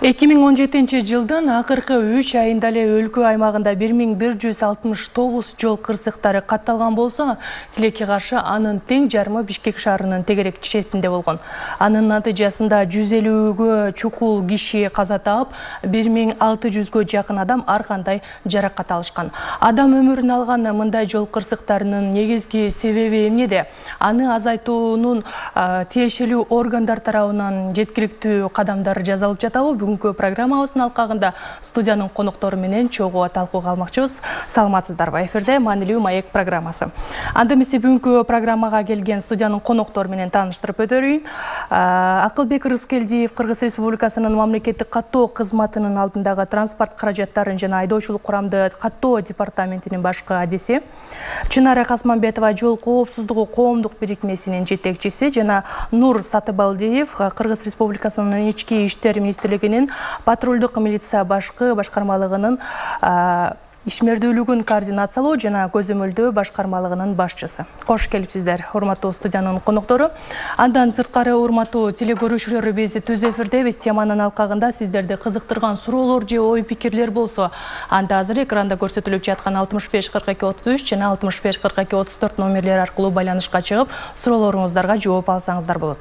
Жылдын акыркы 3 айында эле өлкө аймагында 1169 жол кырсыктары катталган болсо, тилекке каршы анын тең жарымы Бишкек шаарынын тегерек четинде болгон. Анын натыйжасында 150гө чукул киши каза таап, 1600гө жакын адам ар кандай жаракат алышкан. Адам өмүрүн алган мындай жол кырсыктарынын негизги себеби эмнеде? Аны азайтуунун тиешелүү органдар тарабынан жеткиликтүү кадамдар жасалып жатабы? Бүгүнкү программабыздын алкагында студиянын коноктору менен чогуу талкууга алмакчыбыз. Саламатсыздарбы? Эфирде маанилүү маек программасы. Анда эмесе бүгүнкү программага келген студиянын коноктору менен тааныштырып өтөрүйүн. Акылбек Рыскелдиев Кыргыз Республикасынын мамлекеттик каттоо кызматынын алдындагы транспорт каражаттарын жана айдоочулук курамды каттоо департаментинин башкы адиси, Чынара Касманбетова жол коопсуздугу коомдук бирикмесинин жетекчиси жана Нур Сатыбалдиев Кыргыз Республикасынын ички иштер министрлигинин патрулдук милиция башкы башкармалыгынын ишмердүүлүгүн координациялоо жана көзөмөлдөө башкармалыгынын башчысы. Кош келипсиздер, урматтуу студиянын коноктору. Андан сырткары урматтуу телекөрүүчүлөр, биз түз эфирдебиз. Теманын алкагында сиздерди кызыктырган суроолор же ой пикирлер болсо, анда азыр экранда көрсөтүлүп жаткан 65 42 33 жана 65 42 34 номерлери аркылуу байланышка чыгып, суроолоруңуздарга жооп алсаңыздар болот.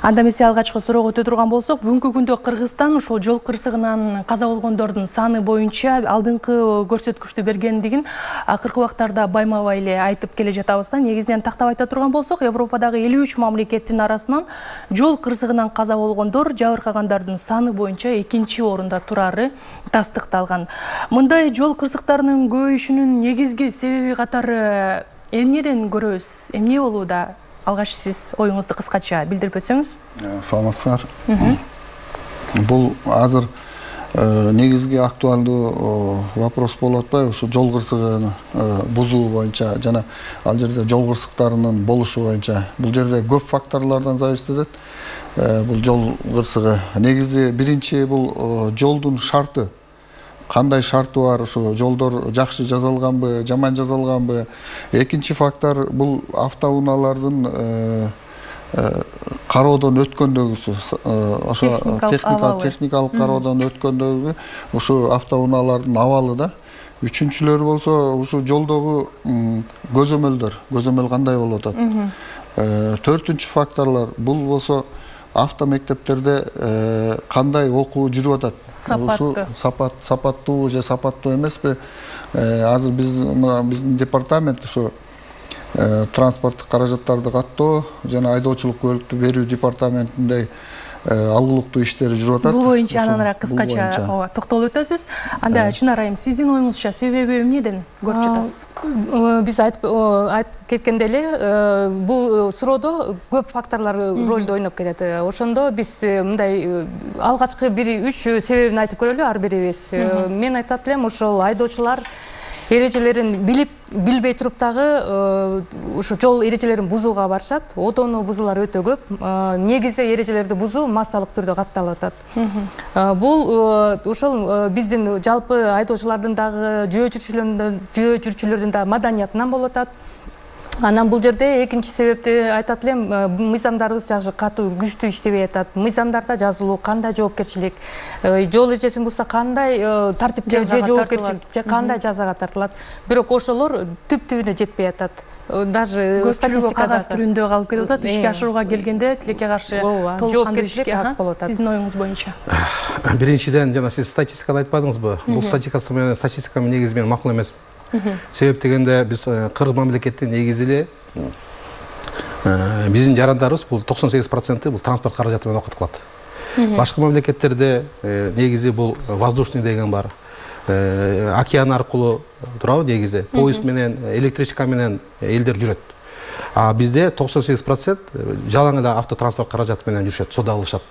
Анда эмесе алгачкы суроого өтө турган болсок, бүгүнкү күндө Кыргызстан ошол жол кырсыгынан каза болгондордун саны боюнча алдыңкы көрсөткүчтү бергендигин акыркы убактарда байма-бай эле айтып келе жатабыз да. Негизинен тактап айта турган болсок, Европадагы 53 мамлекеттин арасынан жол кырсыгынан каза болгондор жабыркагандардын саны боюнча 2-чи орунда турары тастыкталган. Мындай жол кырсыктарынын көбөйүшүнүн негизги себеби катары эмнеден көрөбүз? Эмне болууда? Алгач сиз оюңузду кыскача билдирип өтсөңүз. Саламатсыздар. Бул азыр негизги актуалдуу вопрос болуп атпайбы? Ушу жол кырсыгын бузуу боюнча жана ал жерде жол кырсыктарынын болушу боюнча. Бул жерде көп факторлордон зависит этет. Бул жол кырсыгы негизи биринчи бул жолдун шарты. Кандай шарты бар, ошо жолдор жакшы жасалганбы, жаман жасалганбы? Экинчи фактор бул автоунаалардын кароодон өткөндөгүсү, ошо техникалык кароодон өткөндөгү ушу автоунаалардын абалы да. Үчүнчүлөр болсо ушу жолдогу көзөмөл кандай болуп атат. Төртүнчү факторлор бул болсо автомектептерде кандай окуу жүрүп атат. Сапаттуу же сапаттуу эмеспи? Азыр биздин департамент ушу транспорттук каражаттарды каттоо жана айдоочулук көлүктү берүү департаментинде алгылыктуу иштери жүрүп атат. Бул боюнча анан кыскача токтолуп өтөсүз. Анда Чынар айым, сиздин оюңузча себеби эмнеден көрүп жатасыз? Биз айтып кеткенде эле бул суроодо көп факторлор ролду ойноп кетет. Ошондо биз мындай алгачкы 1-3 себебин айтып көрөлү ар бирибиз. Мен айтат элем, ошол айдоочулар эрежелерин билбей туруп дагы ушу жол эрежелерин бузууга барышат. Одону бузуулар өтө көп. Негизи эрежелерди бузуу массалык түрдө катталып атат. Бул ошол биздин жалпы айдоочулардын дагы жөө жүрчүлөрдүн да маданиятынан болуп атат. Анан бул жерде экинчи себепти айтат элем, мыйзамдарыбыз жакшы катуу күчтүү иштебей атат. Мыйзамдарда жазылуу кандай жоопкерчилик, жол эрежесин бузса кандай тартипке же жоопкерчилик, же кандай жазага тартылат. Бирок ошолор түп-түбүнө жетпей атат. Даже статистика кагаз түрүндө калып кетип атат. Ишке ашырууга келгенде тилекке каршы жоопкерчилик аз болуп атат. Сиздин оюңуз боюнча. Биринчиден жана сиз статистиканы айтпадыңызбы? Бул статистика менен негизи мен макул эмес. Себеп дегенде биз Кыргыз мамлекеттин негизи эле биздин жарандарыбыз бул 98% бул транспорт каражаты менен окутулат. Башка мамлекеттерде негизи бул воздушный деген бар. Океан аркылуу турабы негизи. Поезд менен, электричка менен элдер жүрөт. А бизде 98% жалаң эле автотранспорт каражаты менен жүрүшөт, соода кылышат.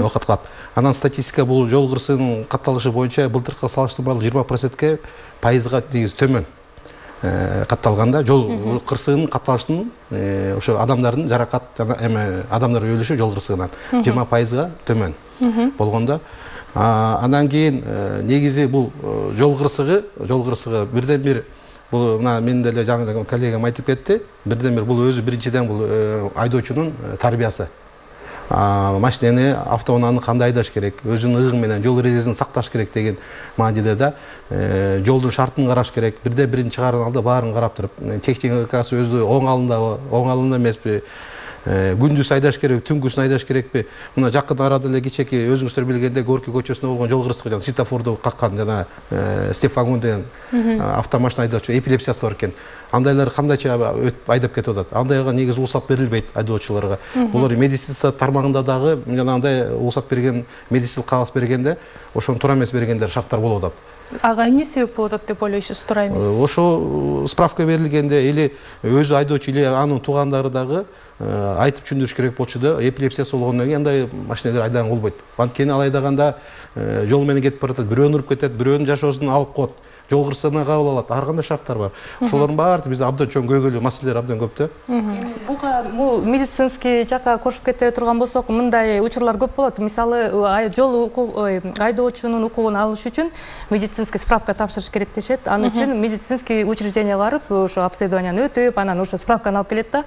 Окутулат. Анан статистика бул жол кырсыгынын катталышы боюнча былтыркы салыштырмалуу 20%га пайызга негизи төмөн катталганда жол кырсыгынын катталышынын ошо адамдардын жаракат жана адамдар өлүшү жол кырсыгынан 20%га төмөн болгондо, анан кийин негизи бул жол кырсыгы бирден бир бул мына мен деле жаңы коллегам айтып кетти, бирден бир бул өзү биринчиден бул айдоочунун тарбиясы. машинени автоунааны кандай айдаш керек, өзүнүн ыгы менен жол эрежесин сакташ керек деген маанидеде да жолдун шартын караш керек. Бирде бирин чыгарган алда баарын карап туруп, техникасы өзү оң алындабы, оң алында эмеспи, күндүз айдаш керек, түнгүсүн айдаш керекпи? Мына жакын арада эле кечеки өзүңүздөр билгендей Горький көчөсүндө болгон жол кырсыгы жана светофорду каккан жана Стефан деген автомашина айдоочу эпилепсиясы бар экен. Андайлар кандайча өтүп айдап кетип атат. Андайга негизи уруксат берилбейт айдоочуларга. Булар медицина тармагында дагы жана андай уруксат берген, медициналык кагаз бергенде, ошону туура эмес бергендер шарттар болуп атат. Ага эмне себеп болуп атат деп ойлойсуз, туура эмес? Ошо справка берилгенде или өзү айдоочу или анын туугандары дагы айтып түшүндүрүш керек болчу да, эпилепсиясы болгондон кийин андай машинелер айдаган болбойт. Анткени ал айдаганда жол менен кетип баратат, бирөөнү уруп кетет, бирөөнүн жашоосун алып коет, жол кырсыгына кабыл алат. Ар кандай шарттар бар. Ошолордун баары бизде абдан чоң көйгөйлүү маселелер абдан көп да. Бул медицинский жакка кошуп кете турган болсок, мындай учурлар көп болот. Мисалы, жол айдоочунун укугун алыш үчүн медицинский справка тапшырыш керек дешет. Анын үчүн медицинский учреждение барып, ошо обследованияны өтүп, анан ошо справканы алып келет да.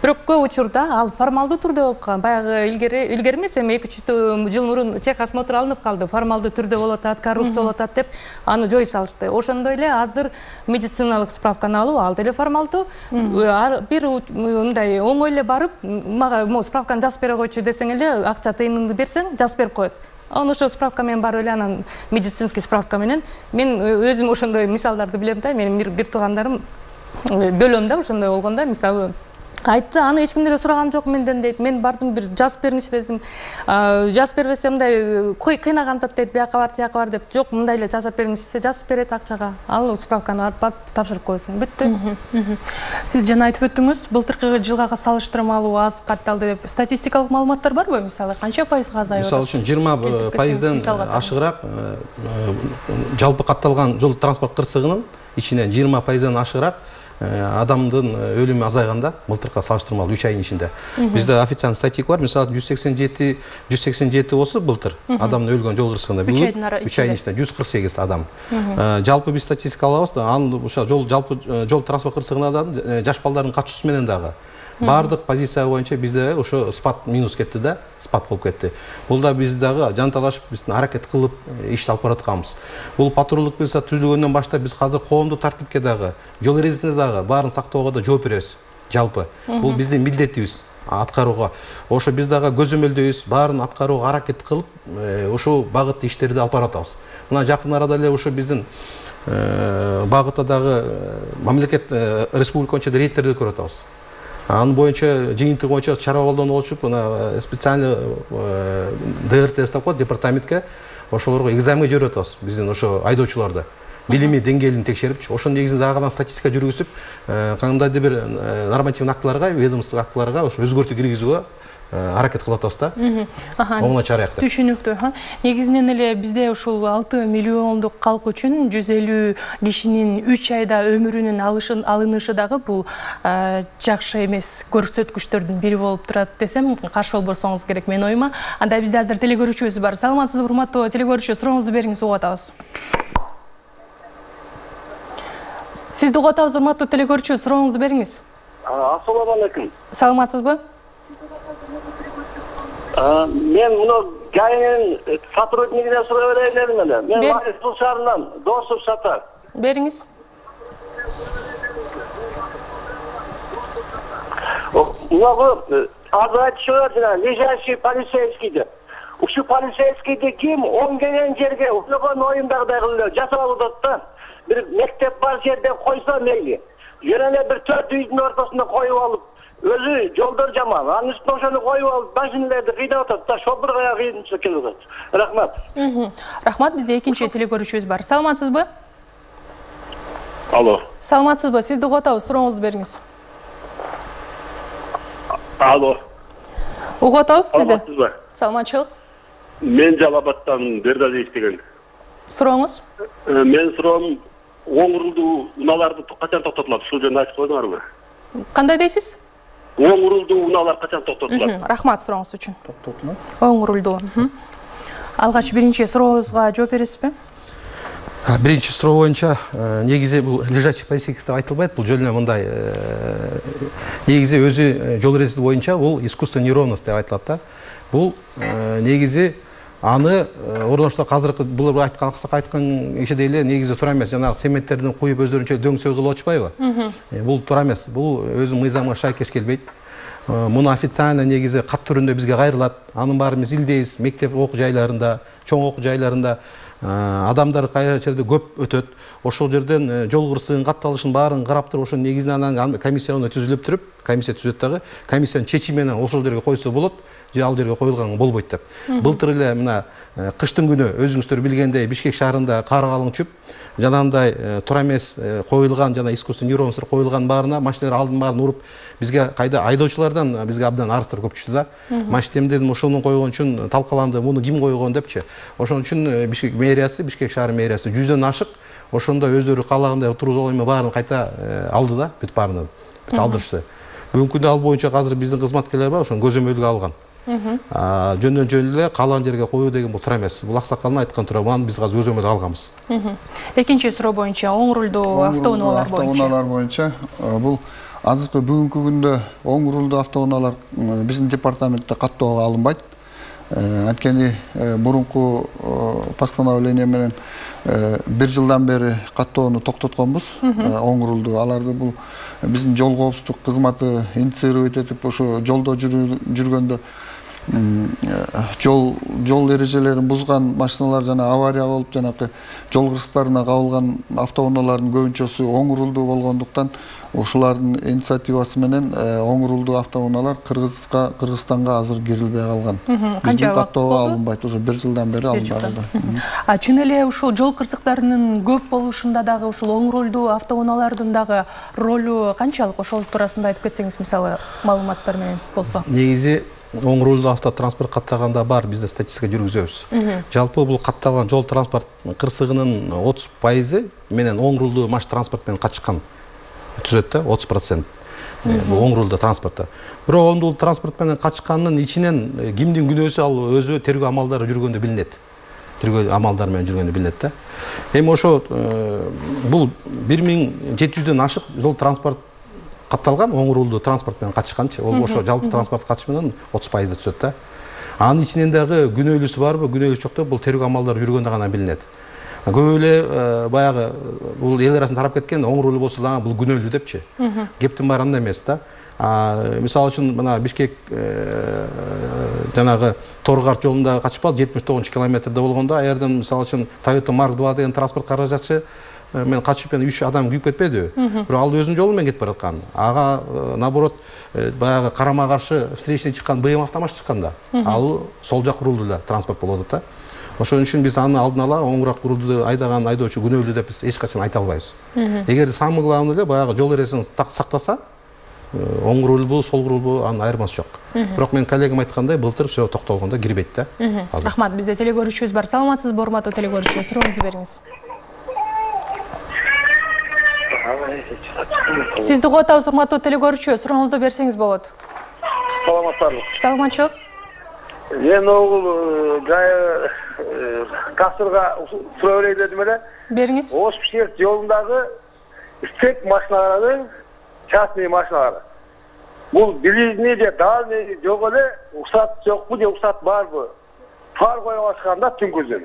Бирок көп учурда ал формалдуу түрдө болуп калган. Баягы илгери эмес, эми 2-3 жыл мурун техосмотр алынып калды. Формалдуу түрдө болуп атат, коррупция болуп атат деп аны жоюп салышты. Ошондой эле азыр медициналык справканы алуу ал деле формалдуу. Бир мындай оңой эле барып, мага могу справканы жазып бере койчу десең эле, акча тыйыныңды берсең, жазып берип коет. Анан ошо справка менен барып эле анан медицинский справка менен мен өзүм ошондой мисалдарды билем да. Менин бир туугандарым бөлөм да ошондой болгондо, мисалы айтты, аны эч ким деле сураган жок менден дейт. Мен бардым, бир жазып беринчи дедим. Жазып бербесем мындай кыйнагантат дейт, бияка бар, тияка бар деп. Жок, мындай эле жазып бериңиз десе, жазып берет акчага. Ал справканы барып тапшырып коесуң. Бүттү. Сиз жана айтып өттүңүз, былтыркы жылга салыштырмалуу аз катталды деп. Статистикалык маалыматтар барбы? Мисалы, канча пайызга азайып атат? Мисалы үчүн 20% ашыгыраак жалпы катталган жол транспорт кырсыгынын ичинен 20% ашыгыраак адамдын өлүмү азайганда былтыркы салыштырмалуу 3 айдын ичинде. Бизде официальный статистика бар. Мисалы 187 болсо былтыр адамдын өлгөн жол кырсыгында. 3 айдын ичинде 148 адам. Жалпы биз статистика алабыз да, анын ошо жалпы жол транспорт кырсыгына да жаш балдардын катышуусу менен дагы бардык позиция боюнча бизде ошо спад минус кетти да, спад болуп кетти. Бул да биз дагы жанталашып, биздин аракет кылып ишти алып баратканбыз. Бул патрулдук милиция түзүлгөндөн баштап биз азыр коомдук тартипке дагы, жол эрежесине дагы баарын сактоого да жооп беребиз. Жалпы бул биздин милдетибиз аткарууга. Ошо биз дагы көзөмөлдөйбүз, баарын аткарууга аракет кылып, ошол багытта иштерди алып баратабыз. Мына жакын арада эле ошо биздин багытта дагы мамлекет республика боюнча рейдтерди көрүп атабыз. Анын боюнча жыйынтыгы боюнча чара колдонуп болчуп, мына специальный ДРТ деп коет, департаментке ошолорго экзаменге жиберип атабыз. Биздин ошо айдоочуларды билими деңгээлин текшерип, ошонун негизинде дагы статистика жүргүзүп, кандайдыр бир нормативдик актыларга, ведомстволук актыларга ошо өзгөртүү киргизүүгө аракет кылып атабыз да. Оңой чара аяктап. Түшүнүктүү. Негизинен эле бизде ушул 6 миллиондук калк үчүн 150 кишинин 3 айда өмүрүнүн алынышы дагы бул жакшы эмес көрсөткүчтөрдүн бири болуп турат десем, каршы болбосоңуз керек менин оюма. Анда бизде азыр телекөрүүчүбүз бар. Саламатсызбы, урматтуу телекөрүүчү, сурооңузду бериңиз, угуп атабыз. Сизди угуп атабыз, урматтуу телекөрүүчү, сурооңузду бериңиз. Ассаламу алейкум. Саламатсызбы? Мен муну ГАИнин сотруднигине суроо берейин дедим эле. Мен Ларисбул шаарынан Досов Сатар. Бериңиз. Муну азыр айтышып жана лежащий полицейский деп. Ушул полицейскийди ким оңгеген жерге уйгон оюндагыдай кылып жасап алып атат да. Бир мектеп бар жерде койсо мейли. Жөн эле бир 4 үйдүн ортосунда коюп алып, өзү жолдор жаман. Анын үстүнө ошону коюп алып, машиналарды кыйнап атат да, шопурга кыйынчылык келип атат. Рахмат. Рахмат, бизде экинчи телекөрүүчүбүз бар. Саламатсызбы? Алло. Саламатсызбы? Сизди угуп атабыз, сурооңузду бериңиз. Алло. Угуп атабыз сизди. Саламатсызбы? Саламатчылык. Мен Жалабаттан Бердалиев деген. Сурооңуз? Мен суроом, оң урулдуу унааларды качан токтотулат? Ушул жөнүндө айтып койдуңарбы? Кандай дейсиз? Оң урулдуу унаалар качан токтотулат? Рахмат сурооңуз үчүн. Оң урулдуу. Алгач биринчи сурооңузга жооп бересизби? Биринчи суроо боюнча негизи бул лежачий полицейский деп айтылбайт, бул жөн эле мындай негизи өзү жол эрежеси боюнча бул искусственная неровность деп айтылат да. Бул негизи аны орноштуруп азыркы бул аксак айткан кишидей эле негизи туура эмес. Жанагы цементтердин куюп өздөрүнчө дөңсөй кылып атышпайбы? Бул туура эмес. Бул өзүнүн мыйзамга шайкеш келбейт. Муну официально негизи кат түрүндө бизге кайрылат. Анын баарын биз илдейбиз. Мектеп окуу жайларында, чоң окуу жайларында адамдар кайра жерде көп өтөт. Ошол жерден жол кырсыгынын катталышын баарын карап туруп, ошо негизинен анан комиссия түзүлүп туруп, комиссия түзөт дагы, комиссиянын чечими менен ошол жерге койсо болот, же ал жерге коюлган болбойт деп. Былтыр эле мына кыштын күнү өзүңүздөр билгендей Бишкек шаарында кар калың түшүп, жанагындай туура эмес коюлган жана искусственный неровностьтер коюлган баарына машиналар алдын баарын уруп, бизге кайда айдоочулардан бизге абдан арыздар көп түштү да. Машинем дедим, ошону койгон үчүн талкаланды, муну ким койгон депчи. Ошон үчүн Бишкек мэриясы, Бишкек шаар мэриясы 100дөн ашык ошондо өздөрү каалагандай туруп жол эме баарын кайта алды да, бүт баарынан. Бүт алдырышты. Бүгүнкү күндө ал боюнча азыр биздин кызматкерлер бар, ошону көзөмөлгө алган. Жөндөн жөн эле каалаган жерге коюу деген бул туура эмес. Бул аксакалдын айткан туура, аны биз азыр көзөмөлгө алганбыз. Экинчи суроо боюнча оң рулдуу автоунаалар боюнча. Автоунаалар боюнча бул азыркы бүгүнкү күндө оң рулдуу автоунаалар биздин департаментте каттоого алынбайт. Анткени мурунку постановление менен 1 жылдан бери каттоону токтотконбуз. Оң рулдуу аларды бул биздин жол коопсуздук кызматы инициировать этип ошо жолдо жүргөндө жол эрежелерин бузган машиналар жана авария болуп жанакы жол кырсыктарына кабылган автоунаалардын көбүнчөсү оң рулдуу болгондуктан ошолардын инициативасы менен оң рулдуу автоунаалар Кыргызстанга азыр кирилбей калган. Биздин каттоого алынбайт, уже 1 жылдан бери алынбаган. Чын эле ушул жол кырсыктарынын көп болушунда дагы ушул оң рулдуу автоунаалардын дагы ролу канчалык? Ошол туурасында айтып кетсеңиз, мисалы, маалыматтар менен болсо. Негизи оң рулдуу автотранспорт катталганда бар, бизде статистика жүргүзөбүз. Жалпы бул катталган жол транспорт кырсыгынын 30% менен оң рулдуу маш транспорт менен катышкан түзөт да, 30%. Бул оң рулдуу транспортто. Бирок оң рулдуу транспорт менен катышкандын ичинен кимдин күнөөсү ал өзү тергөө амалдары жүргөндө билинет. Тергөө амалдары менен жүргөндө билинет да. Эми ошо бул 1700дөн ашык жол транспорт катталган оң рулдуу транспорт менен катышканчы. Ол ошо жалпы транспорт катыш менен 30% түзөт да. Анын ичинен дагы күнөөлүүсү барбы, күнөөлүүсү жок деп бул тергөө амалдары жүргөндө гана билинет. Көп эле баягы бул эл арасында тарап кеткен оң рулуу болсо дагы бул күнөөлүү депчи. Кептин баары андай эмес да. Мисалы үчүн мына Бишкек жанагы Торгарт жолунда качпал 79 километрде болгондо, аерден мисалы үчүн Toyota Mark 2 деген транспорт каражатчы мен качып 3 адам күйүп кетпедиби? Бирок ал өзүнүн жолу менен кетип бараткан. Ага наоборот баягы карама каршы встречный чыккан БМ автомаш чыккан да. Ал сол жак рулдуу эле транспорт болот да. Ошон үчүн биз аны алдын ала оңураак рулду айдаган айдоочу күнөөлүү деп биз эч качан айта албайбыз. Эгер самый главный эле баягы жол эрежесин сактаса, оң рулбу, сол рулбу анын айырмасы жок. Бирок мен коллегам айткандай, былтыр все токтолгондо кирбейт да. Рахмат, бизде телегөрүүчүбүз бар. Саламатсызбы, урматтуу телегөрүүчү? Сурооңузду бериңиз. Сизди угуп атабыз, урматтуу телегөрүүчү. Сурооңузду берсеңиз болот. Саламатсызбы. Саламатчылык. Мен ол жай касырга суроо берейин дедим эле. Бериңиз. Ош-Бишкек жолундагы истек машиналарын, частный машиналары. Бул билизни же дальний жок эле, уруксат жокпу же уруксат барбы? Фар коюп атышканда түнкүзүн.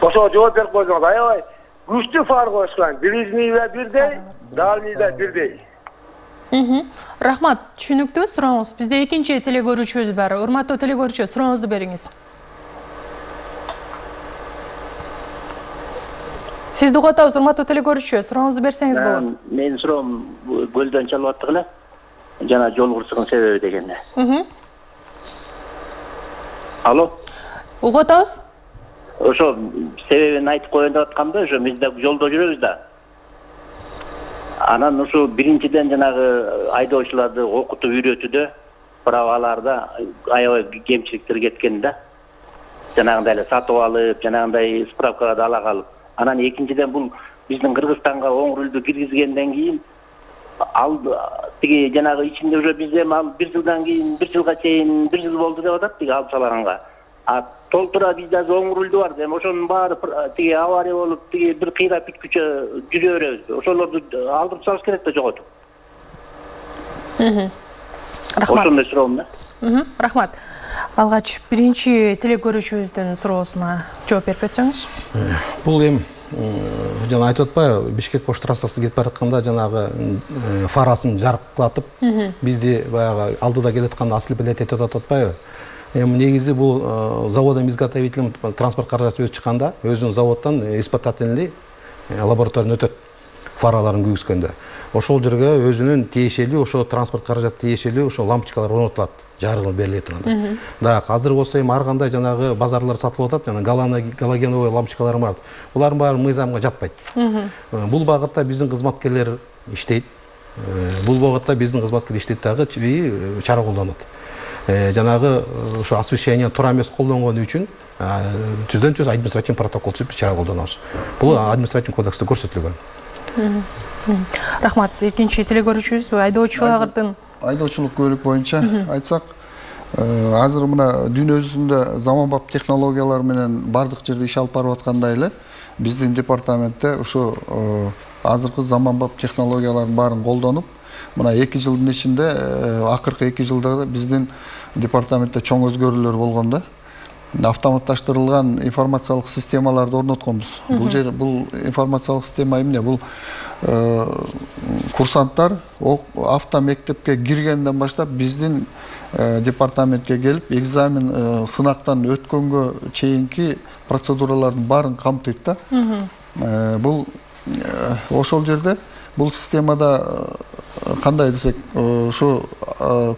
Ошо жооп берип койсоңуз, аябай күчтүү фар коюшкан. Билизни да бирдей, дальний да бирдей. Рахмат, түшүнүктүү сурооңуз. Бизде экинчи телегөрүүчүбүз бар. Урматтуу телегөрүүчү, сурооңузду бериңиз. Сизди угуп атабыз, урматтуу телегөрүүчү. Сурооңузду берсеңиз болот. Менин суроом көлдөн чалып аттык эле. Жана жол кырсыгынын себеби дегенде. Алло. Угуп атабыз? Ошо себебин айтып коеюн деп атканбы, ошо биз да жолдо жүрөбүз да. Анан ушу биринчиден жанагы айдоочуларды окутуп үйрөтүүдө праваларда аябай кемчиликтер кеткен да. Жанагындай эле сатып алып, жанагындай справкаларды ала калып. Анан экинчиден бул биздин Кыргызстанга оң рулду киргизгенден кийин ал тиги жанагы ичинде уже бизде ал 1 жылдан кийин 1 жылга чейин 1 жыл болду деп атат тиги алып салганга. толтура бизде азыр оң рульду бар. Эми ошонун баары тиги авария болуп, тиги бир кыйрап бүткүчө жүрө беребиз. Ошолорду алдырып салыш керек да жоготуп. Рахмат. Ошондой суроом да. Рахмат. Алгач биринчи телекөрүүчүбүздүн суроосуна жооп берип кетсеңиз. Бул эми жана айтып атпайбы, Бишкек Ош трассасы кетип баратканда жанагы фарасын жаркылатып, бизди баягы алдыда келатканда ослеплять этип атпайбы? Эми негизи бул заводдон изготовителем транспорт каражаты өз чыкканда, өзүнүн заводдон испытательный лабораториядан өтөт фараларын күйгүзгөндө. Ошол жерге өзүнүн тиешелүү, ошо транспорт каражаты тиешелүү ошо лампочкалар орнотулат, жарыгы бериле турганда. Да, азыр болсо эми ар кандай жанагы базарлар сатылып атат, жана галогеновый лампочкалар бар. Булардын баары мыйзамга жатпайт. Бул багытта биздин кызматкерлер иштейт. Бул багытта биздин кызматкерлер иштейт дагы чара колдонот. Жанагы ошо освещение туура эмес колдонгону үчүн түздөн түз административный протокол түзүп чара колдонобуз. Бул административный кодексте көрсөтүлгөн. Рахмат. Экинчи телекөрүүчүбүз айдоочулук көлүк боюнча айтсак, азыр мына дүйнө жүзүндө заманбап технологиялар менен бардык жерде иш алып барып аткандай эле биздин департаментте ошо азыркы заманбап технологиялардын баарын колдонуп, мына 2 жылдын ичинде акыркы 2 жылда биздин департаментте чоң өзгөрүүлөр болгон да. Автоматташтырылган информациялык системаларды орнотконбуз. Бул информациялык система эмне? Бул курсанттар автомектепке киргенден баштап биздин департаментке келип, экзамен сынактан өткөнгө чейинки процедуралардын баарын камтыйт да. Бул ошол жерде бул системада кандай десек, ушу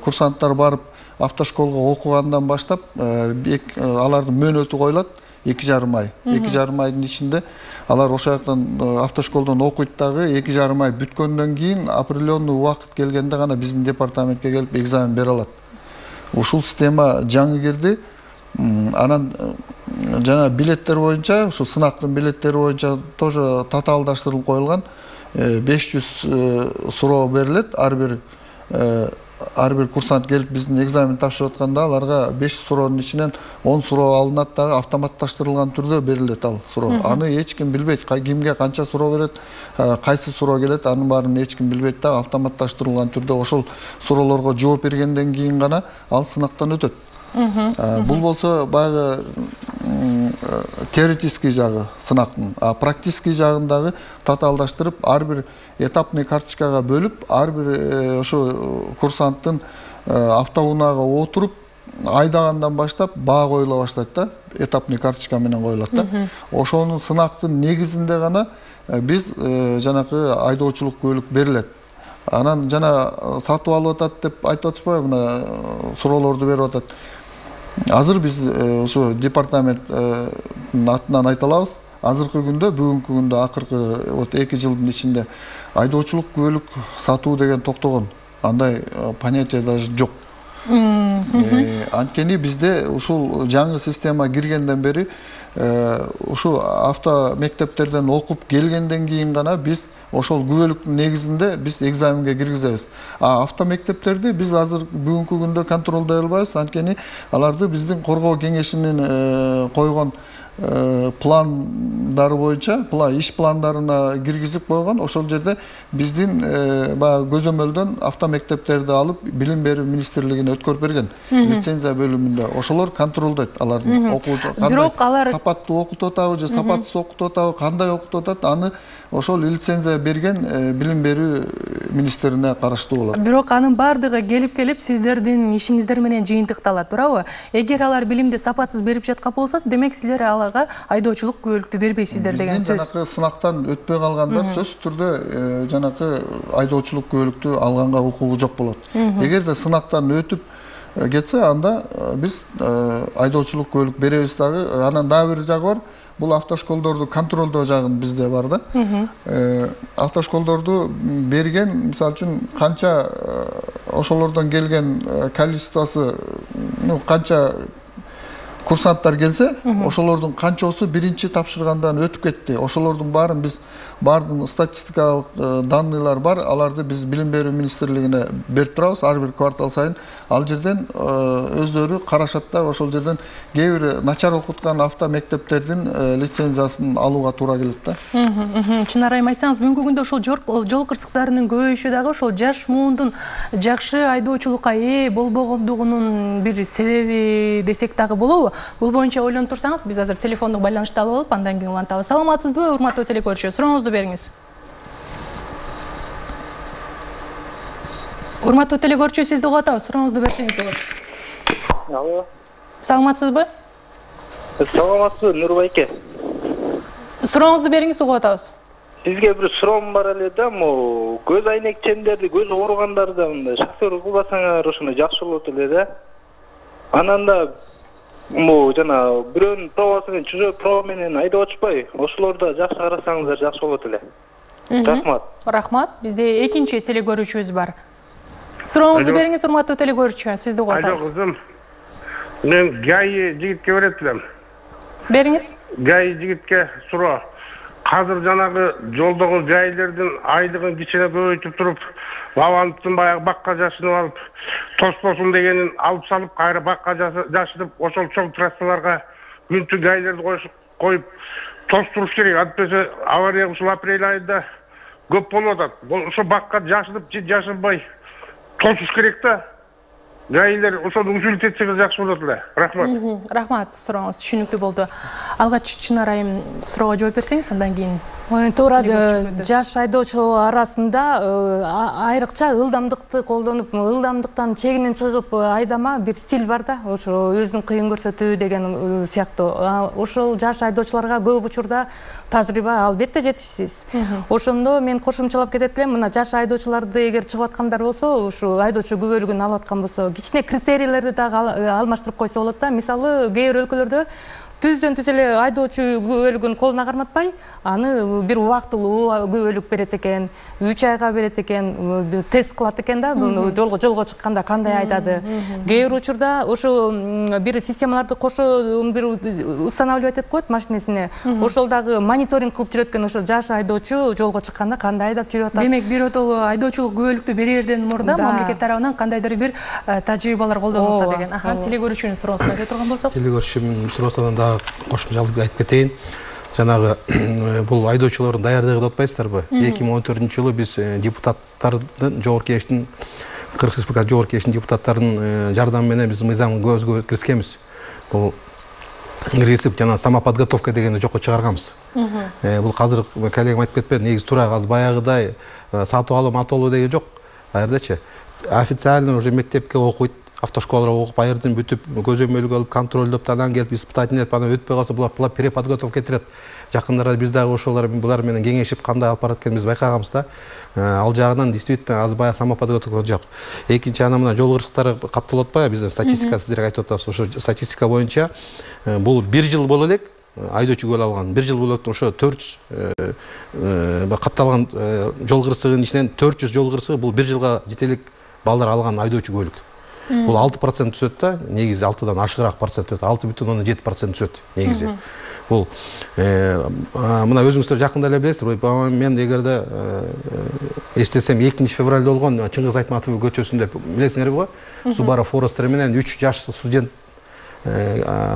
курсанттар барып автошколго окугандан баштап алардын мөөнөтү коюлат 2,5 ай. 2,5 айдын ичинде алар ошол жактан автошколдон окуйт дагы 2,5 ай бүткөндөн кийин определенный убакыт келгенде гана биздин департаментке келип экзамен бере алат. Ушул система жаңы кирди. Анан жана билеттер боюнча, ушу сынактын билеттери боюнча тоже татаалдаштырылып коюлган. 500 суроо берилет. Ар бир курсант келип биздин экзамен тапшырып атканда аларга 500 суроонун ичинен 10 суроо алынат дагы автоматташтырылган түрдө берилет ал суроо. Аны эч ким билбейт, кимге канча суроо берет, кайсы суроо келет, анын баарын эч ким билбейт дагы автоматташтырылган түрдө ошол суроолорго жооп бергенден кийин гана ал сынактан өтөт. Бул болсо баягы теоретический жагы сынактын, а практический жагын дагы татаалдаштырып, ар бир этапный карточкага бөлүп, ар бир ошо курсанттын автоунаага отуруп, айдагандан баштап баа коюла баштайт да, этапный карточка менен коюлат да. Ошонун сынактын негизинде гана биз жанакы айдоочулук көлүк берилет. Анан жана сатып алып атат деп айтып атышпайбы, мына суроолорду берип атат. Азыр биз ошо департаменттин атынан айта алабыз. Азыркы күндө, бүгүнкү күндө акыркы 2 жылдын ичинде айдоочулук көлүк сатуу деген токтогон. Андай понятие даже жок. Анткени бизде ушул жаңы система киргенден бери ушу авто мектептерден окуп келгенден кийин гана биз ошол күбөлүктүн негизинде биз экзаменге киргизебиз. А авто мектептерди биз азыр бүгүнкү күндө контролдой албайбыз, анткени аларды биздин коргоо кеңешинин койгон пландары боюнча, иш пландарына киргизип койгон. Ошол жерде биздин баягы көзөмөлдөн авто мектептерди алып билим берүү министрлигине өткөрүп берген лицензия бөлүмүндө. Ошолор контролдойт алардын окуучу кандай сапаттуу окутуп атабы же сапатсыз окутуп атабы, кандай окутуп атат, аны ошол лицензия берген билим берүү министрине караштуу болот. Бирок анын бардыгы келип сиздердин ишиңиздер менен жыйынтыкталат, туурабы? Эгер алар билимди сапатсыз берип жаткан болсо, демек силер аларга айдоочулук күбөлүктү бербейсиздер деген сөз. Жанакы сынактан өтпөй калгандар сөзсүз түрдө жанакы айдоочулук күбөлүктү алганга укугу жок болот. Эгерде сынактан өтүп кетсе, анда биз айдоочулук күбөлүк беребиз дагы. Анан дагы бир жагы бар. Бул автошколдорду контролдоо жагын бизде бар да. Автошколдорду берген, мисалы үчүн канча ошолордон келген количествосы, канча курсанттар келсе, ошолордун канчоосу биринчи тапшыргандан өтүп кетти. Ошолордун баарын биз бардын статистикалык данныйлар бар. Аларды биз Билим берүү министрлигине берип турабыз ар бир квартал сайын. Ал жерден өздөрү карашат да, ошол жерден кээ бир начар окуткан авто мектептердин лицензиясын алууга туура келет да. Чынар айым айтсаңыз, бүгүнкү күндө ошол жол кырсыктарынын көбөйүшү дагы ошол жаш муундун жакшы айдоочулукка ээ болбогондугунун бир себеби десек дагы болобу? Бул боюнча ойлонуп турсаңыз, биз азыр телефондук байланышты алып алып, андан кийин улантабыз. Саламатсызбы, урматтуу телекөрүүчү? Сурооңузду бериңиз. Урматтуу телекөрүүчү, сизди угуп атабыз. Сурооңузду берсеңиз болот. Алло. Саламатсызбы? Саламатсызбы, Нурбайке. Сурооңузду бериңиз, угуп атабыз. Сизге бир суроом бар эле да, көз айнекчендерди, көз ооругандарды мындай шофер кылбасаңар ошону жакшы болот эле да. Анан да жана бирөөнүн пробасы чужой проба менен айдап отушпай, ошолорду жакшы карасаңыздар жакшы болот эле. Рахмат. Рахмат. Бизде экинчи телекөрүүчүбүз бар. Сурооңузду бериңиз, урматтуу телекөрүүчү, сизди угуп атабыз. Алло, кызым. Мен ГАИ жигитке берет элем. Бериңиз. ГАИ жигитке суроо. Азыр жанагы жолдогу жайлердин айлыгын кичине көбөйтүп туруп, бабамдын баягы бакка жашынып алып, тоспосун дегенин алып салып, кайра бакка жашынып, ошол чоң трассаларга күнтү ГАИлерди коюп тостуруш керек. Антпесе авария ушул апрель айында көп болуп атат. Ошо бакка жашынып, жашынбай тосуш керек да. ГАИлер ошону узулт этсеңиз жакшы болот эле. Рахмат. Рахмат, сурооңуз түшүнүктүү болду. Алгач Чынар айым суроого жооп берсеңиз, андан кийин. Туура, жаш айдоочулар арасында айрыкча ылдамдыкты колдонуп, ылдамдыктан чегинен чыгып айдама бир стиль бар да, ошо өзүн кыйын көрсөтүү деген сыяктуу. Ошол жаш айдоочуларга көп учурда тажрыйба албетте жетишсиз. Ошондо мен кошумчалап кетет элем, мына жаш айдоочуларды эгер чыгып аткандар болсо, ушу айдоочу күбөлүгүн алып аткан болсо, кичине критерийлерди дагы алмаштырып койсо болот да. Мисалы, кээ бир өлкөлөрдө түздөн түз эле айдоочу күбөлүгүн колуна карматпай, аны бир убактылуу күбөлүк берет экен, 3 айга берет экен, тест кылат экен да, жолго чыкканда кандай айдады. Кээ бир учурда ошо бир системаларды кошо бир устанавливать этип коет машинесине. Ошол дагы мониторинг кылып жүрөт экен, ошо жаш айдоочу жолго чыкканда кандай айдап жүрүп атат. Демек, биротоло айдоочулук күбөлүктү берерден мурда мамлекет тарабынан кандайдыр бир тажрыйбалар колдонулса деген. Телекөрүүчүнүн суроосун айта турган болсок. Телекөрүүчүнүн суроосунан кошумчалып айтып кетейин. Жанагы бул айдоочулардын даярдыгы деп атпайсыздарбы? 2014-жылы биз депутаттардын жогорку кеңештин Кыргыз Республикасы жогорку кеңештин депутаттарынын жардамы менен биз мыйзам көзгө киргизгенбиз. Бул киргизип жана самоподготовка дегенди жокко чыгарганбыз. Бул азыр коллегам айтып кетпеди, негизи туура азыр баягыдай сатып алуу, матолуу деген жок. Аердечи официально уже мектепке окуйт, автошколаларга окуп, айырдын бүтүп, көзөмөлгө алып, контролдоп, анан келип испытательный этип, анан өтпөй калса, булар переподготовка этирет. Жакындара биз дагы ошолор булар менен кеңешип, кандай алып барат экенин биз байкаганбыз да. Ал жагынан действительно аз баягы самоподготовка жок. Экинчи, анан мына жол кырсыктары катталып атпайбы, биздин статистика сиздерге айтып атабыз. Ошо статистика боюнча бул 1 жыл боло элек айдоочу күбөлүк алган. 1 жыл боло элек ошо 400 катталган жол кырсыгынын ичинен 400 жол кырсыгы бул 1 жылга жете элек балдар алган айдоочу күбөлүк. Бул 6% түсөт да, негизи 6дан ашыгыраак процент өтөт, 6,7% түсөт негизи. Бул мына өзүңүздөр жакында эле билесиздер, мен эгерде эстесем 2 февралда болгон Чыңгыз Айтматов көчөсүндө билесиңерби го? Subaru Forester менен 3 жаш студент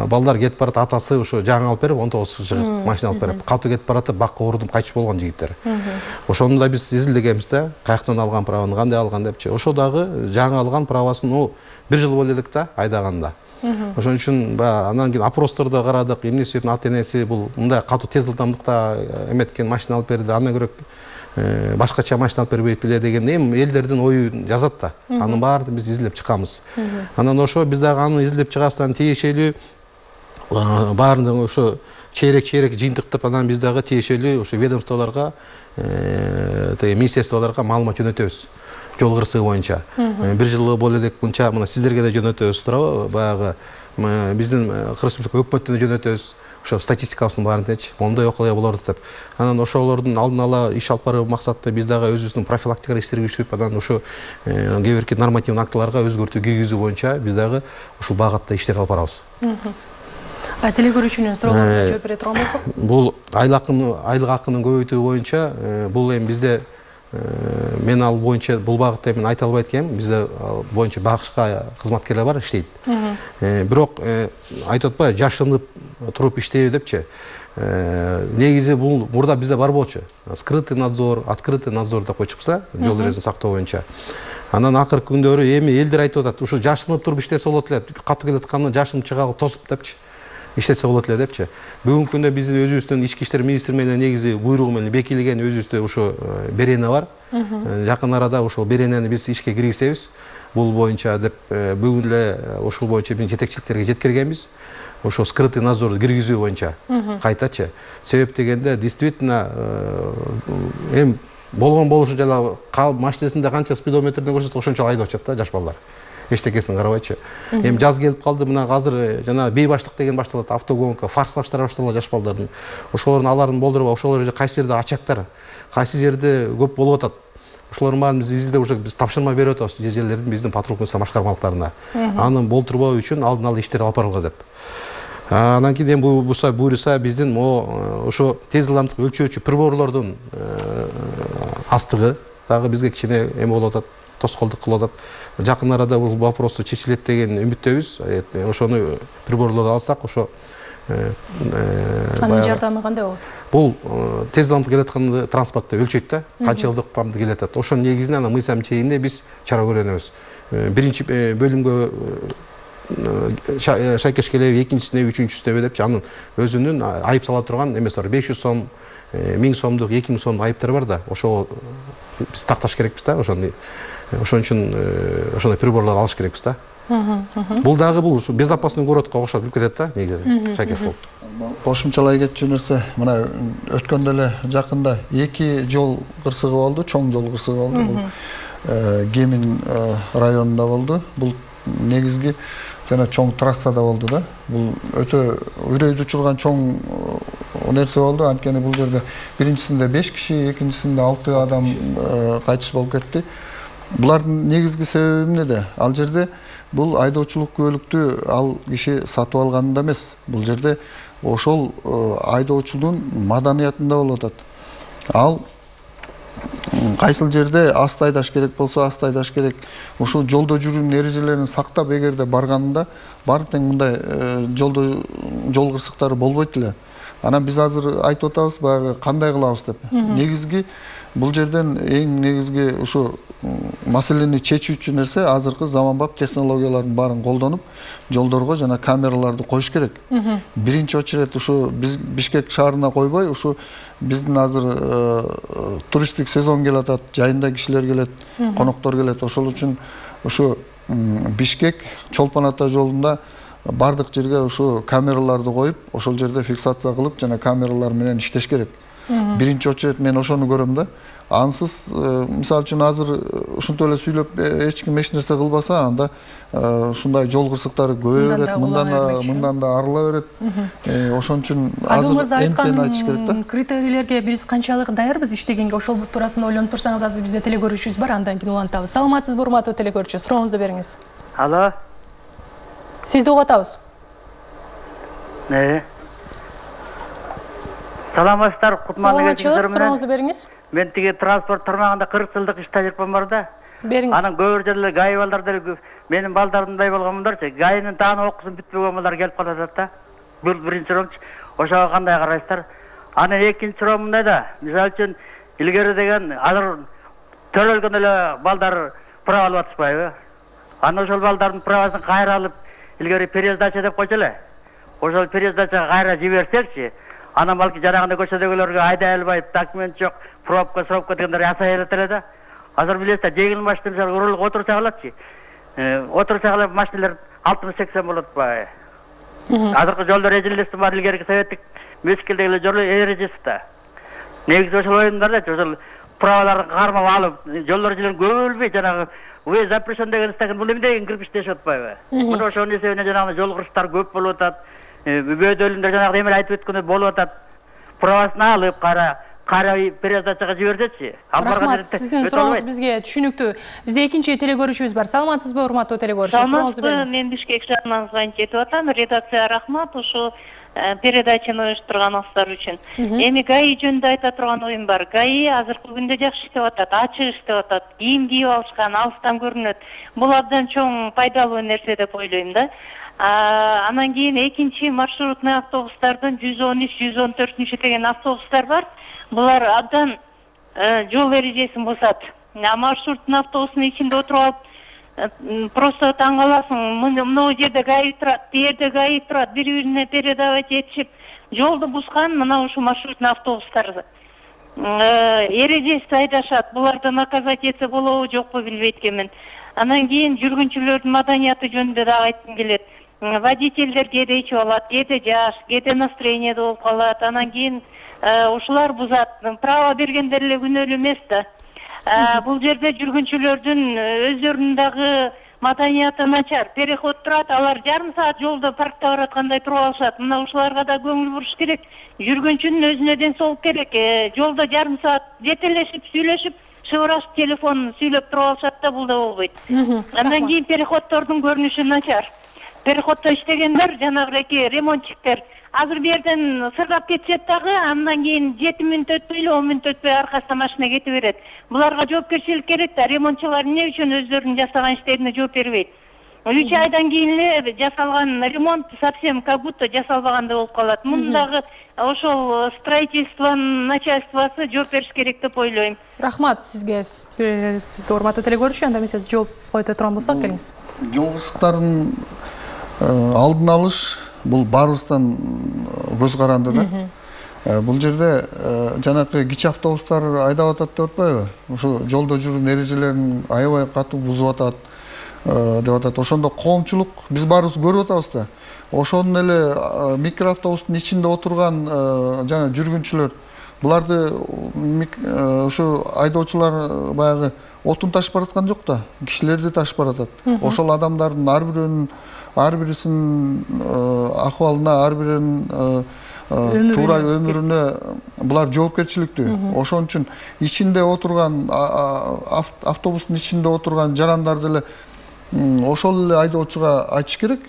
балдар кетип барат, атасы ошо жаңы алып берип 19 чыгып машина алып берип, катуу кетип баратып, бакка урдум кайтып болгон жигиттер. Ошону да биз изилдегенбиз да, каяктан алган праваны, кандай алган депчи. Ошо дагы жаңы алган правасын 1 жыл боло элек да айдаганда. Ошон үчүн анан кийин опросторду карадык, эмнеси үчүн ата-энеси бул мындай катуу тез ылдамдыкта эметкен машина алып берди, андан көрө башкача машина алып бербейт беле деген элдердин оюн жазат да. Анын баарын биз изилдеп чыкканбыз. Анан ошо биз дагы аны изилдеп чыгасыздан тиешелүү баарын ошо чейрек жыйынтыктап, анан биз дагы тиешелүү ошо ведомстволорго, министрликтарга маалымат жөнөтөбүз. Жол кырсыгы боюнча 1 жыл боло элек мынча, мына сиздерге да жөнөтөбүз туурабы? Баягы биздин Кыргыз Республика өкмөтүнө жөнөтөбүз. Ошо статистикабыздын баарын моундай окуя болот деп. Анан ошолордун алдын ала иш алып баруу максатта биз дагы өзүбүздүн профилактикалык иштерге киришип, анан ошо кээ бирки нормативдик актыларга өзгөртүү киргизүү боюнча биз дагы ушул багытта иштерди алып барабыз. Теле көрүүчүнүн суроолоруна жооп бере турган болсок. Бул айлык акынын көбөйтүү боюнча бул эми бизде мен ал боюнча бул багытта мен айта албайт экенм. Бизде боюнча багышка кызматкерлер бар, иштейт. Бирок айтып атпайбы, жашынып туруп иштейби депчи. Негизи бул мурда бизде бар болчу. Скрытый надзор, открытый надзор деп койчукпуз, жол эрежесин сактоо боюнча. Анан акыркы күндөрү эми элдер айтып атат, ушу жашынып туруп иштесе болот эле, катуу келатканда жашынып чыгалы тосуп депчи. Иштесе болот эле депчи. Бүгүнкү күндө биздин өзүбүздүн ички иштер министри менен негизи буйругу менен бекитилген өзүбүздө ушу берене бар. Жакын арада ушул беренени биз ишке киргизебиз. Бул боюнча деп бүгүн эле ушул боюнча биз жетекчиликтерге жеткиргенбиз. Ошо скрытый надзорду киргизүү боюнча кайтачы. Себеп дегенде действительно эми болгон болушу жана машинасында канча спидометрден көрсөтүп ошончо айдоочат да жаш балдар. Эчтекесин карабайчы. Эми жаз келип калды, мына азыр жана бейбаштык деген башталат, автогонка, форсаждар башталат жаш балдардын. Ошолордун аларын болдуруп, ошолор жерде кайсы жерде ачактар, кайсы жерде көп болуп атат. Ошолордун баарын биз изилдеп уже биз тапшырма берип атабыз жерлердин биздин патрулдук башкармалыктарына. Аны болтурбоо үчүн алдын ала иштер алып барылга деп. Анан кийин эми буйруса биздин ошо тез ылдамдык өлчөөчү приборлордун астыгы дагы бизге кичине эме болуп атат, тоскоолдук кылып атат. Жакын арада бул вопросту чечилет деген үмүттөбүз. Ошону приборлорду алсак, ошо анын жардамы кандай болот? Бул тез ылдамдык келаткан транспортто өлчөйт да, канча ылдамдыкта келет атат. Ошонун негизинде анан мыйзам чегинде биз чара көрөнөбүз. Биринчи бөлүмгө шайкеш келеби, экинчисине, үчүнчүсүнө депчи, анын өзүнүн айып сала турган эмеси бар. 500 сом, 1000 сомдук, 2000 сомдук айыптар бар да. Ошо биз такташ керекпиз да, ошону. Ошон үчүн ошондой приборлорду алыш керекпиз да. Бул дагы бул безопасный городко окшоп кирип кетет да, негизи шайкеш болуп. Кошумчалай кетчү нерсе, мына өткөндө эле жакында 2 жол кырсыгы болду, чоң жол кырсыгы болду. Бул Кемин районунда болду. Бул негизги жана чоң трассада болду да. Бул өтө үрөйдү учурган чоң нерсе болду. Анткени бул жерде биринчисинде 5 киши, экинчисинде 6 адам кайтыш болуп кетти. Булардын негизги себеби эмнеде? Ал жерде бул айдоочулук күбөлүктү ал киши сатып алганында эмес. Бул жерде ошол айдоочулугун маданиятында болуп атат. Ал кайсыл жерде аст айдаш керек болсо аст айдаш керек. Ошол жолдо жүрүүнүн эрежелерин сактап эгерде барганында баары тең мындай жол кырсыктары болбойт эле. Анан биз азыр айтып атабыз баягы кандай кылабыз деп. Негизги бул жерден эң негизги ушу маселени чечүүчү нерсе азыркы заманбап технологиялардын баарын колдонуп, жолдорго жана камераларды коюш керек. Биринчи очередь ушу биз Бишкек шаарына койбой, ушу биздин азыр туристтик сезон келе атат, жайында кишилер келет, коноктор келет. Ошол үчүн ушу Бишкек Чолпон Ата жолунда бардык жерге ушу камераларды коюп, ошол жерде фиксация кылып жана камералар менен иштеш керек. Биринчи очередь мен ошону көрөм да. Ансыз мисалы үчүн азыр ушинтип эле сүйлөп эч ким эч нерсе кылбаса, анда ушундай жол кырсыктары көбөйө берет, мындан да арыла берет. Ошон үчүн азыр эмтен айтыш керек да. Критерийлерге биз канчалык даярбыз иштегенге, ошол туурасында ойлонуп турсаңыз, азыр бизде теле көрүүчүбүз бар, андан кийин улантабыз. Саламатсызбы, урматтуу теле көрүүчү? Сурооңузду бериңиз. Алло. Сизди угуп атабыз. Саламатсыздар, кутмандуу кечиңиздер менен. Сурооңузду бериңиз. Мен тиги транспорт тармагында 40 жылдык иш тажрыйбам бар да. Бериңиз. Анан көп жерлер гай балдар деле менин балдарымдай болгонмундарчы. Гайнын тааны окусын бүтпөгөн балдар келип калып атат да. Бул биринчи суроомчу. Ошого кандай карайсыздар? Анан экинчи суроом мындай да. Мисалы үчүн илгери деген азыр төрөлгөн эле балдар права алып атышпайбы? Анан ошол балдардын правасын кайра алып, илгери пересдача деп койчу эле. Ошол пересдачага кайра жиберсекчи, анан балки жанагындай көчөдөгүлөргө айдай албай, документ жок, пробка дегендер ясай элет эле да. Азыр билесиздер, жеңил машина мисалы урулуп отурса калатчы. Отурса калып машиналар 60-80 болот баы. Азыркы жолдор эрежеси бар, илгерки советтик мезгилдеги жол эрежеси да. Негизи ошол оюндар да, ошол праваларды кармап алып, жолдор жилен көбөлбөй жанагы вы запрещен деген стакан бул эмне деген кирип иштешип атпайбы? Мына ошонун эсебинен жанагы жол кырсыктар көп болуп атат. Бөөдөлүндө жанагы эме айтып өткөндөй болуп атат. Правасын алып, карай передачага жиберсечи. Рахмат, сиздин сурооңуз бизге түшүнүктүү. Бизде экинчи телегөрүүчүбүз бар. Саламатсызбы, урматтуу телегөрүүчү? Сурооңузду бериңиз. Мен Бишкек шаарынан звонить этип атам. Редакция рахмат ушу передачаны уюштурганыңыздар үчүн. Эми ГАИ жөнүндө айта турган оюм бар. ГАИ азыркы күндө жакшы иштеп атат, ачык иштеп атат. Кийим кийип алышкан, алыстан көрүнөт. Бул абдан чоң пайдалуу нерсе деп ойлойм да. Анан кийин экинчи маршрутный автобустардын 113, 114 деген автобустар бар. Булар абдан жол эрежесин бузат. Маршруттун автобустун ичинде отуруп алып просто таң каласың. Мына жерде ГАИ турат, жерде ГАИ турат, бири-бирине передавать этишип, жолду бузган мына ушу маршрутный автобустар. Эрежесиз айдашат. Буларды наказать этсе болобу, жокпу билбейт экенмин. Анан кийин жүргүнчүлөрдүн маданияты жөнүндө да айткым келет. Водительдер кээде ичип алат, кээде жаш, кээде настроениеде болуп калат. Анан кийин ушулар бузат. Право бергендер эле күнөөлүү эмес да. Бул жерде жүргүнчүлөрдүн өздөрүнүн дагы маданияты начар. Переход турат, алар жарым саат жолдо паркта бараткандай туруп алышат. Мына ушуларга да көңүл буруш керек. Жүргүнчүнүн өзүнө ден соолук керек. Жолдо жарым саат жетелешип, сүйлөшүп, шыбырашып телефон сүйлөп туруп алышат да, бул да болбойт. Андан кийин переходдордун көрүнүшү начар. Переходдо иштегендер, жанагы ремонтчиктер азыр бу жерден сыргап кетишет дагы, андан кийин 7 мүнөт өтпөй эле 10 мүнөт өтпөй аркасына машина кетип берет. Буларга жоопкерчилик керек да. Ремонтчулар эмне үчүн өздөрүнүн жасаган иштерине жооп бербейт? 3 айдан кийин эле жасалган ремонт совсем как будто жасалбагандай болуп калат. Мундагы ошол строительствонун начальствосу жооп бериш керек деп ойлойм. Рахмат сизге урматтуу телегөрүүчү. Анда эмесе жооп който турган болсок, келиңиз. Жол кырсыктарын алдын алыш бул баарыбыздан көз каранды да. Бул жерде жанакы кичи автобустар айдап атат деп атпайбы? Ошо жолдо жүрүүнүн эрежелерин аябай катуу бузуп атат деп атат. Ошондо коомчулук биз баарыбыз көрүп атабыз да. Ошонун эле микроавтобустун ичинде отурган жана жүргүнчүлөр буларды ушу айдоочулар баягы отун ташып бараткан жок да. Кишилерди ташып баратат. Ошол адамдардын ар бирисинин акыбалына, ар биринин туура өмүрүнө булар жоопкерчиликтүү. Ошон үчүн ичинде отурган автобустун ичинде отурган жарандарды эле ошол эле айдоочуга айтыш керек.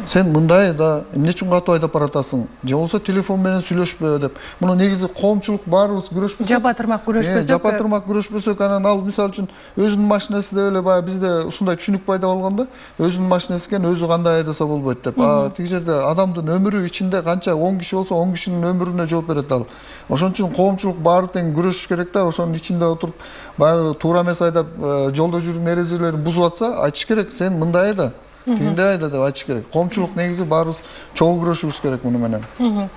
Сен мындай да эмне үчүн катуу айдап баратасың? Же болбосо телефон менен сүйлөшпө деп. Муну негизи коомчулук баарыбыз күрөшпөсөк, жапа-тырмак күрөшпөсөк, анан ал мисалы үчүн өзүнүн машинасы деп эле баягы бизде ушундай түшүнүк пайда болгон да. Өзүнүн машинасы экен, өзү кандай айдаса болбойт деп. Тиги жерде адамдын өмүрү ичинде канча 10 киши болсо 10 кишинин өмүрүнө жооп берет ал. Ошон үчүн коомчулук баары тең күрөшүш керек да. Ошонун ичинде отуруп баягы туура эмес айдап жолдо жүрүүнүн эрежелерин бузуп атса, айтыш керек, сен мындай айда, тигиндей айда деп айтыш керек. Коомчулук негизи баарыбыз чогуу күрөшүбүз керек муну менен.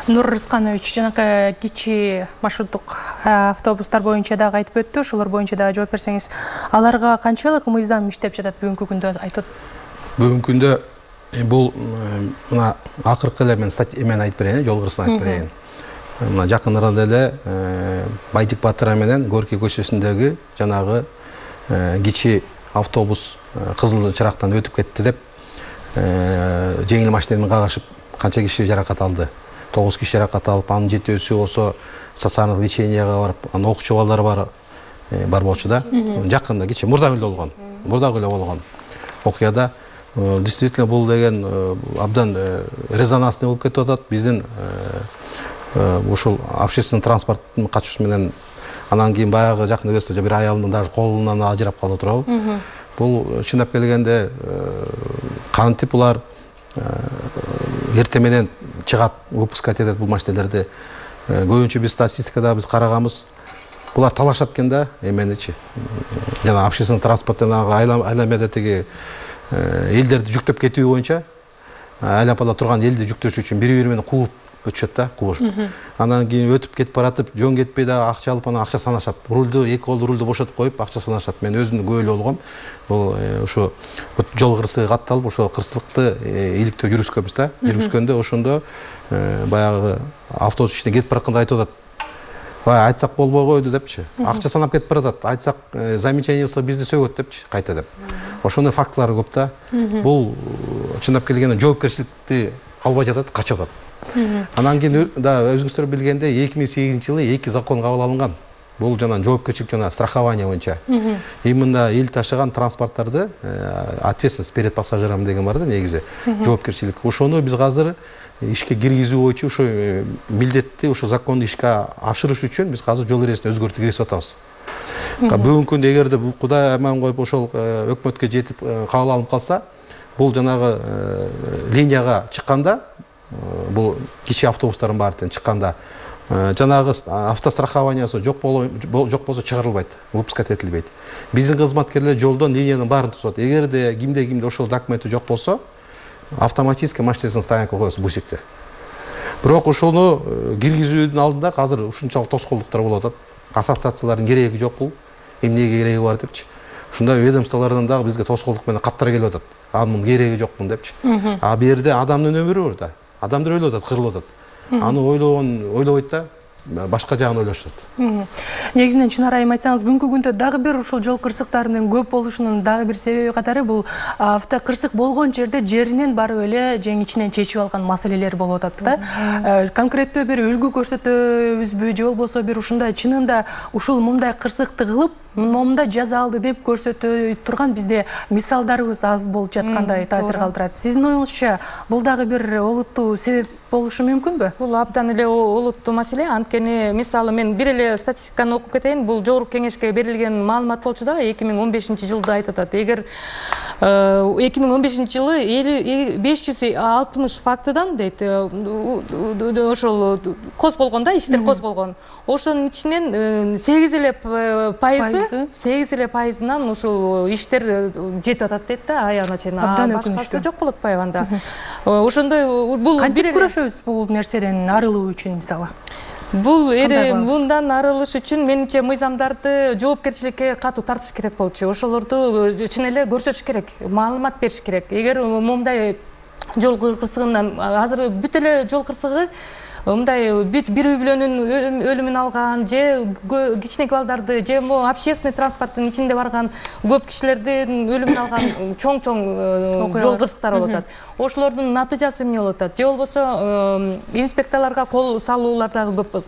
Нур Рысканович жанакы кичи маршруттук автобустар боюнча дагы айтып өттү. Ошолор боюнча дагы жооп берсеңиз, аларга канчалык мыйзам иштеп жатат бүгүнкү күндө айтып? Бүгүнкү күндө бул мына акыркы эле мен эмени айтып берейин, жол кырсыгын айтып берейин. Мына жакын арада эле Байдик Батыра менен Горький көчөсүндөгү жанагы кичи автобус кызыл чырактан өтүп кетти деп жеңил машина менен кагышып канча киши жаракат алды. 9 киши жаракат алып, анын 7-өсү болсо стационардык леченияга барып, анын окуучу балдар бар болчу да. Жакында кичи мурдагы эле болгон окуяда действительно бул деген абдан резонансный болуп кетип атат. Биздин ушул общественный транспорттун катышуусу менен анан кийин баягы жакында эмес бир аялдын даже колунан ажырап калды туурабы. Бул чындап келгенде кантип булар эртең менен чыгат, выпускать этет бул машиналерди. Көбүнчө биз статистикада биз караганбыз. Булар талашат экен да, эменичи. Жана общественный транспорттон айламада тиги элдерди жүктөп кетүү боюнча айлампада турган элди жүктөш үчүн бири-бири менен кууп өтүшөт да, куушуп. Анан кийин өтүп кетип баратып, жөн кетпей дагы акча алып, анан акча санашат. Рулду, эки колду рулду бошотуп коюп, акча санашат. Мен өзүм күбөлүү болгом. Бул ушу жол кырсыгы катталып, ошо кырсыктыкты иликтөө жүргүзгөнбүз да. Жүргүзгөндө ошондо баягы автобус ичинде кетип баратканда айтып атат. Айтсак болбой койду депчи. Акча санап кетип баратат. Айтсак замечание кылса бизди сөгөт депчи, кайта деп. Ошондой фактылар көп да. Бул чындап келгенде жоопкерчиликти албай жатат, качып атат. Анан кийин өзүңүздөр билгендей 2008-жылы 2 закон кабыл алынган. Бул жана жоопкерчилик жана страхование боюнча. Именно эл ташыган транспорттарды ответственность перед пассажиром деген бар да негизи. Жоопкерчилик. Ошону биз азыр ишке киргизүү боюнча ошо милдетти, ошо законду ишке ашырыш үчүн биз азыр жол эрежесин өзгөртүп киргизип атабыз. Бүгүнкү күндө эгерде Кудай аман коюп ошол өкмөткө жетип кабыл алынып калса, бул жанагы линияга чыкканда, бул кичи автобустардын баардыгын чыкканда жанагы автострахованиясы жок болсо чыгарылбайт, выпускать этилбейт. Биздин кызматкерлер жолдон линиянын баарын тосот. Эгерде кимде ошол документи жок болсо, автоматически машинасына стоянка коебуз бусикте. Бирок ошону киргизүүдүн алдында азыр ушунчалык тоскоолдуктар болуп атат. Ассоциациялардын кереги жок бул, эмнеге кереги бар депчи. Ушундай ведомстволордон дагы бизге тоскоолдук менен каттар келип атат. Анын кереги жокмун депчи. А бу жерде адамдын өмүрү бар да. Адамдар өлүп атат, кырылып атат. Аны ойлобойт да, башка жагын ойлошот. Негизинен чын айым айтсаңыз, бүгүнкү күндө дагы бир ушул жол кырсыктарынын көп болушунун дагы бир себеби катары бул автокырсык болгон жерде жеринен барып эле жең ичинен чечип алган маселелер болуп атат да. Конкреттүү бир үлгү көрсөтөбүзбү же болбосо бир ушундай чынында ушул мындай кырсыкты кылып момундай жаза алды деп көрсөтө турган бизде мисалдарыбыз аз болуп жаткандай таасир калтырат. Сиздин оюңузча бул дагы бир олуттуу себеп болушу мүмкүнбү? Бул абдан эле олуттуу маселе. Анткени мисалы мен бир эле статистиканы окуп кетейин. Бул жогорку кеңешке берилген маалымат болчу да, 2015-жылды айтып атат. Эгер 2015-жылы 560 фактыдан дейт ошол козголгон да, иштер козголгон. Ошонун ичинен 8% пайызынан ушул иштер жетип атат дейт да, аягына чейин. Башкасы жок болуп атпайбы анда. Ошондой бул кантип күрөшөбүз бул нерседен арылуу үчүн мисалы? Бул мындан арылыш үчүн менимче мыйзамдарды жоопкерчиликке катуу тартыш керек болчу. Ошолорду чын эле көрсөтүш керек, маалымат бериш керек. Эгер момундай жол кырсыгынан азыр бүт эле жол кырсыгы мындай бир үй бүлөнүн өлүмүн алган же кичинекей балдарды же общественный транспорттун ичинде барган көп кишилердин өлүмүн алган чоң жол кырсыктары болуп атат. Ошолордун натыйжасы эмне болуп атат? Же болбосо инспекторлорго кол салуулар дагы көп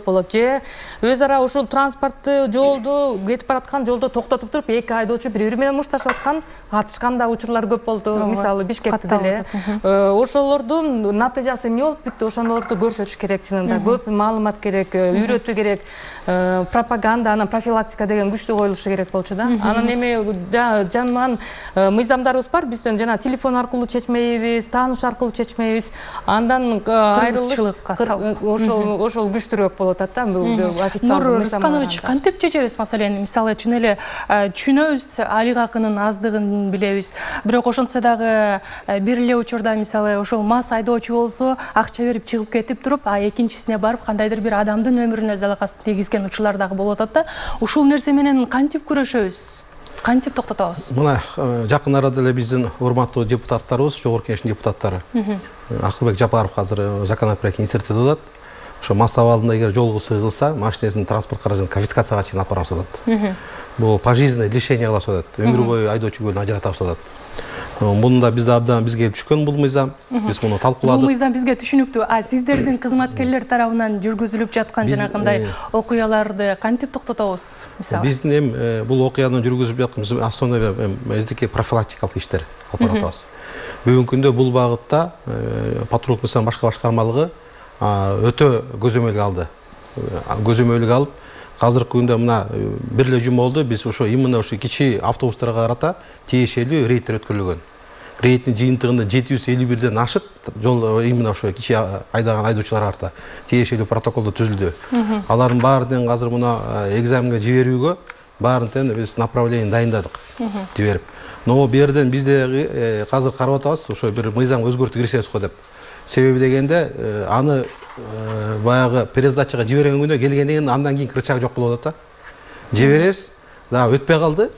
болот. Же өз ара ушул транспортты жолду кетип бараткан жолдо токтотуп туруп эки айдоочу бири менен мушташып аткан, атышкан да учурлар көп болду. Мисалы Бишкекте деле. Ошолордун натыйжасы эмне болуп бүттү? Ошолорду көрсөтүш керек чынында. Көп маалымат керек, үйрөтүү керек, пропаганда, анан профилактика деген күчтүү коюлушу керек болчу да. Анан эми жаман мыйзамдарыбыз бар. Бизден жана телефон аркылуу чечмейбиз, тааныш аркылуу чечмейбиз. Андан айрылыш ошол күчтүүрөөк болуп атат да. Бул официалдуу мыйзам. Рысканович, кантип чечебиз маселени? Мисалы чын эле түшүнөбүз, алик акынын аздыгын билебиз. Бирок ошентсе дагы бир эле учурда мисалы ошол мас айдоочу болсо, акча берип чыгып кетип туруп, экинчисине барып кандайдыр бир адамдын өмүрүнө залалсын тийгизген учурлар дагы болуп атат да. Ушул нерсе менен кантип күрөшөбүз? Кантип токтотобуз? Мына жакын арада эле биздин урматтуу депутаттарыбыз, жогорку кеңештин депутаттары Акылбек Жапаров азыр законопроект институтта атат. Ошо мас абалында эгер жол кылса, машинесин транспорт каражатын конфискацияга чейин алып барабыз атат. Бул пожизненное лишение кылабыз атат. Өмүр бою айдоочу көлүн ажыратабыз атат. Муну да бизде абдан бизге түшкөн бул мыйзам. Биз муну талкууладык. Бул мыйзам бизге түшүнүктүү. Сиздердин кызматкерлер тарабынан жүргүзүлүп жаткан жанагындай окуяларды кантип токтотобуз? Мисалы биздин бул окуяны жүргүзүп жатканыбыз основной биздики профилактикалык иштер алып баратабыз. Бүгүнкү күндө бул багытта патрулдук мыйзам башка башкармалыгы өтө көзөмөлгө алды. Көзөмөлгө алып, азыркы күндө мына бир эле жума болду, биз ошо именно ошо кичи автобустарга карата тиешелүү рейдтер өткөрүлгөн. Рейдтин жыйынтыгында 751ден ашык жол именно ошо кичи айдаган айдоочуларга карата тиешелүү протоколдо түзүлдү. Алардын баардыгын азыр мына экзаменге жиберүүгө баарын биз направление дайындадык жиберип. Но бу жерден бизде азыр карап атабыз, ошо бир мыйзам өзгөртүп кирсебиз го деп. Себеби дегенде аны баягы пересдачага жиберген күндө келгенден кийин андан кийин рычаг жок болуп атат да. Жиберебиз, дагы өтпөй калды.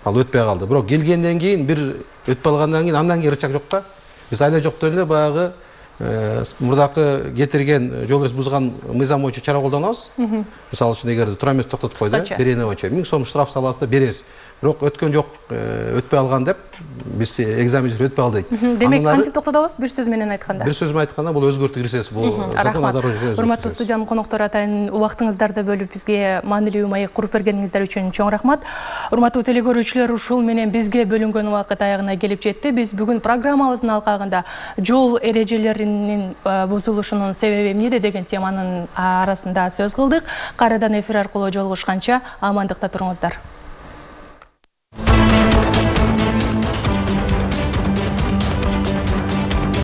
Ал өтпөй калды. Бирок келгенден кийин бир өтпөй калгандан кийин андан кийин рычаг жок да. Биз айда жоктон эле баягы мурдакы кетирген жол эрежесин бузган мыйзам боюнча чара колдонобуз. Мисалы үчүн эгер тура эмес токтотуп койду, берене боюнча 1000 сом штраф салабыз да беребиз. бирок өткөн жок, өтпөй алган деп биз экзамен өтпөй алды дейт. Демек кантип токтотобуз бир сөз менен айтканда? Бир сөз менен айтканда бул өзгөртүү киргизебиз. Бул закон урматтуу студиянын коноктор атайын убактыңыздарды бөлүп бизге маанилүү маек куруп бергениңиздер үчүн чоң рахмат. Урматтуу телекөрүүчүлөр, ушул менен бизге бөлүнгөн убакыт аягына келип жетти. Биз бүгүн программабыздын алкагында жол эрежелеринин бузулушунун себеби эмнеде деген теманын арасында сөз кылдык. Кайрадан эфир аркылуу жолугушканча амандыкта туруңуздар.